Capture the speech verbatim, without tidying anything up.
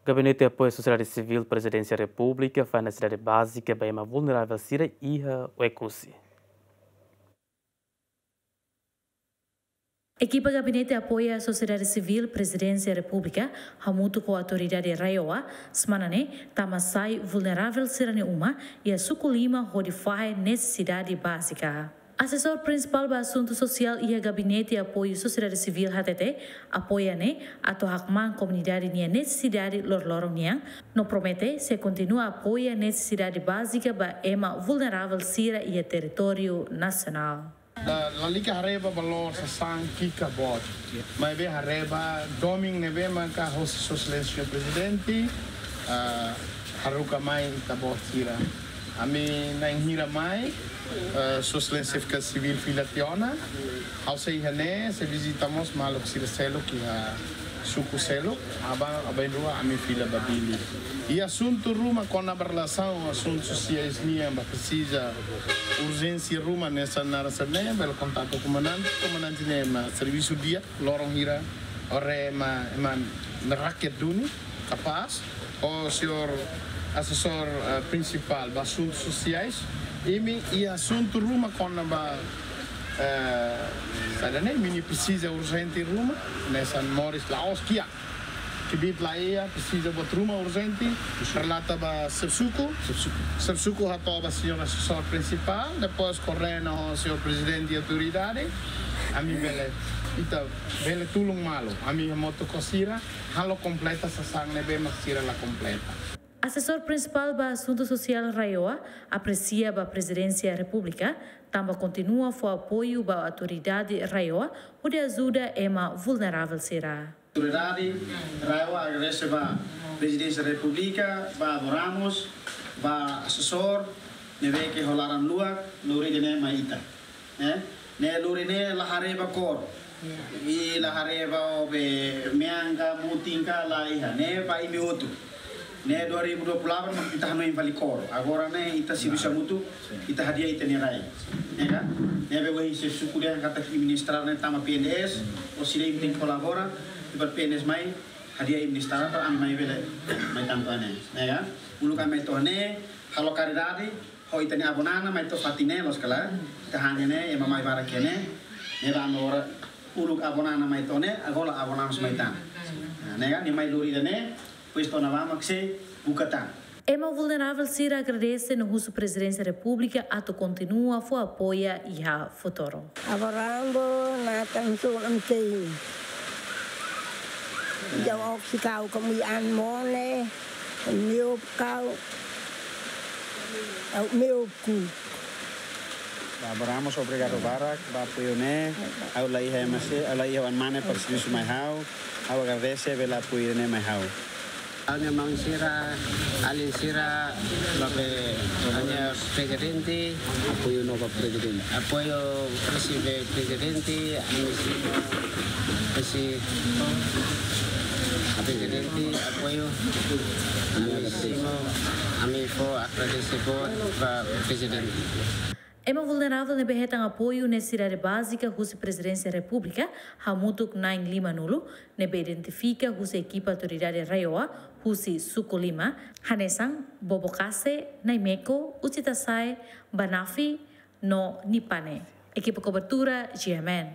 Gabinete Apoiu Sosiedade Sivíl Prezidénsia Repúblika fó nesesidade bázika ba ema vulneravel sira iha Oekusi. Ekipa Gabinete Apoiu Sosiedade Sivíl Prezidénsia Repúblika hamutuk ho autoridade RAEOA semana ne'e tama sai vulneravel sira-nia uma iha Suku Lima hodi fahe nesesidade bázika. Asesór Prinsipál ba Asuntu Sosiál iha Gabinete Apoiu Sosiedade Sivíl hatete, apoiu ne'e atu hakmaan komunidade nia nesesidade loroloron nian, no promete sei kontinua apoiu nesesidade bázika ba ema vulneravel sira iha territóriu nasionál. La, lalika haree ba valór sasán ki'ik ka boot. Maibé haree ba domin ne'ebé maka hosi Sua Exelénsia Prezidente, ah, haruka mai ita-boot sira. Ami na'in hira mai, ah, Sua Exelénsia Xefe Sivíl fila tiha ona. Ha'u sei iha ne'e, sei vizita mós maluk sira seluk iha suku seluk, aban, aban-bainrua ami fila ba Dili. I asuntu ruma kona-ba relasaun asuntu sosiais nian ba presiza urjénsia ruma hanesan naran sira-ne'e, bele kontaktu komandante, komandante ne'e ema servisu di'ak, loron hira, ore ema, ema rakyat duni, kapás, ho señór asesór, eh, prinsipál ba asuntu sosiais, imi iha asuntu ruma kona-ba, eh, saida ne'e, imi-nia presiza urjente ruma, hanesan moris la'ós kiak. Kbiit laiha, presiza buat ruma urjente, relata ba xefe suku. Xefe suku. Xefe suku hato'o ba señór asesór prinsipál, depois koordena ho señór prezidente autoridade, ami bele, ita bele tulun malu, ami hamutuk ho sira, halo kompleta sasán ne'ebé mak sira la kompleta. Asesór Prinsipál ba Asuntu Sosiál RAEOA apresia ba Prezidénsia Repúblika, tanba kontinua fó apoiu ba autoridade RAEOA hodi ajuda ema vulneravel sira. Autoridade RAEOA agradese ba Prezidénsia Repúblika, ba Avó Ramos, ba asesór, ne'ebé ke ho laran luak, lori ida-ne'e mai ita. Ne'e, ne'e lori ne'e la haree ba kór. I la haree ba o be mean ka, mutin ka, laiha. Ne'e ba imi hotu. Ne'e dua ribu dua puluh delapan mak ita hanoin fali kór. Agora ne'e ita servisu hamutuk, ita hadi'a ita-nia rai. Ne'e ka? Ne'ebé ohin xefe suku dehan katak imi-nia estrada ne'e tama P N D S, o sira imi tenke kolabora, i ba P N D S mai, hadi'a imi-nia estrada, para ami mai bele, mai tantu ne'e. Ne'e ka? Uluk ami mai to'o ne'e, halo karidade, ho ita-nia avó Nana mai to'o fatin ne'e, loos ka lae, ita hanya ne'e, ema mai barak iha ne'e, ne'e ba agora, uluk avó Nana mai to'o ne'e, agora avó Nana mai tan. Nah, ne'e ka, nia mai lori ida-ne'e, depois to'o ne'ebá mak sei buka tan. Ema vulneravel sira agradese no husu Prezidénsia Repúblika atu kontinua fó apoiu iha futuru. Avó Ramos, Natan Sul Amtei. Jau oksi kau kamu an mone, miup kau, au miup ku. Ba Avó Ramos, obrigadu barak ba apoiu ne'e. Ha'u la iha ema seluk, ha'u la iha oan mane para servisu mai ha'u. Ha'u agradese bele apoiu ne'e mai ha'u. Ha'u-nia maun sira, alin sira, ba be, ha'u-nia prezidente. Apoiu no ba prezidente. Apoiu husi be prezidente, ami si, husi prezidente, apoiu, ami simu, ami fó agradese boot ba prezidente. Ema vulneravel ne'ebé hetan apoiu nesesidade bázika husi Prezidénsia Repúblika hamutuk na'in lima-nulu, ne'ebé identifika husi ekipa autoridade RAEOA husi Suku Lima, hanesan Bobokase, Naimeko, Uchitasai, Banafi, no Nipane. Ekipa kobertura, G M N.